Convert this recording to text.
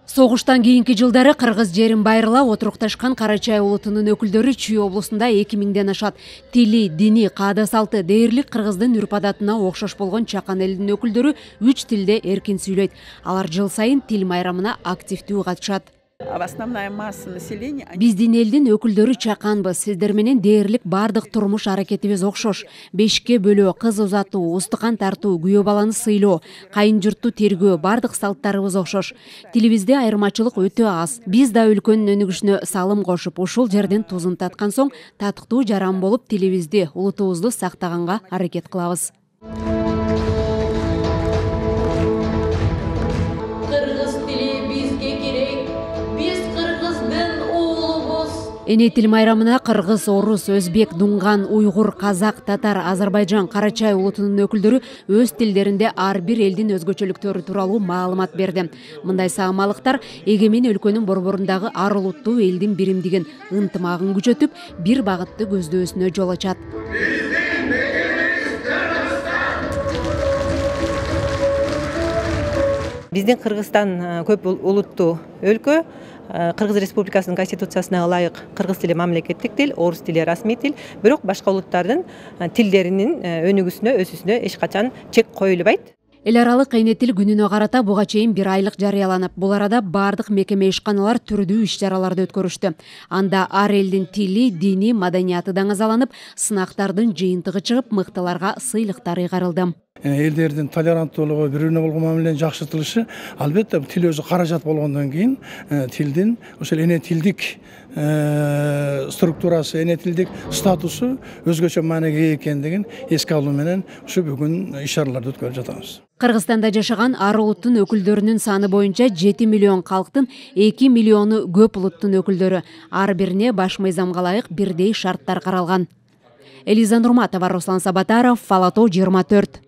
Согуштан кийинки жылдары кыргыз жерин байырла отурукташкан Карачай улутунун өкүлдөрү Чүй облусунда 2000ден ашат. Тили, дини, каада салты дээрлик кыргыздын үрп-адатына окшош болгон чакан элдин өкүлдөрү 3 тилде эркин сүйлөйт. Алар жыл сайын тил майрамына активдүү катышат. Основная масса населения. Биздин элдин өкүлдөрү чаканбыз. Сиздер менен дээрлик бардык турмуш аракетибиз окшош. Бешикке бөлөө, кыз узатуу, устукан тартуу, күйөө баланы сыйлоо, кайын журтту тергөө, бардык салттарыбыз окшош. Тилибизде айырмачылык өтө аз. Биз да өлкөнүн өнүгүшүнө салым кошуп, ушул жерден тузун таткан соң татыктуу жаран болуп тилибизди, улутубузду сактаганга аракет кылабыз. Эне тил майрамына кыргыз, орус, өзбек, дунган, уйгур, казак, татар, Азербайжан, Карачай улутунун өкүлдөрү өз тилдеринде ар бир элдин өзгөчөлүктөрү тууралуу маалымат берди. Мындай саамалыктар эгемен өлкөнүн борборундагы ар улуттуу элдин биримдигин, ынтымагын күчөтүп, бир багытты көздөсүнө жол ачат. Биздин Кыргызстан көп улуттуу өлкө. Кыргыз Республикасынын конституциясына ылайык кыргыз тили мамлекеттик тил, орус тили расмий тил, бирок башка улуттардын тилдеринин өнүгүүсүнө, өсүүсүнө эч качан чек коюлбайт. Эл аралык эне тил күнүнө карата буга чейин 1 айлык жарыяланып, бул арада бардык мекеме ишканалар түрдүү иш-чараларды өткөрүштү. Анда ар элдин тили, дини, маданияты даңазаланып, сынактардын жыйынтыгы чыгып, мыктыларга сыйлыктар ыйгарылды. Элдердин толеранттуулугу, бири-бирине болгон мамиленин жакшыртылышы, албетте тил өзү каражат болгондон кийин тилдин ошол эне тилдик структурасы, эне тилдик статусу өзгөчө мааниге ээ экендигин эске алуу менен ушу бүгүн иш-чараларды өткөрүп жатабыз. Кыргызстанда жашаган ар улуттун өкүлдөрүнүн саны боюнча 7 миллион калктын 2 миллиону көп улуттун өкүлдөрү. Ар бирине баш мыйзамга ылайык бирдей шарттар каралган. Элиза Нурматова, Руслан Сабатаров, Фалато 24.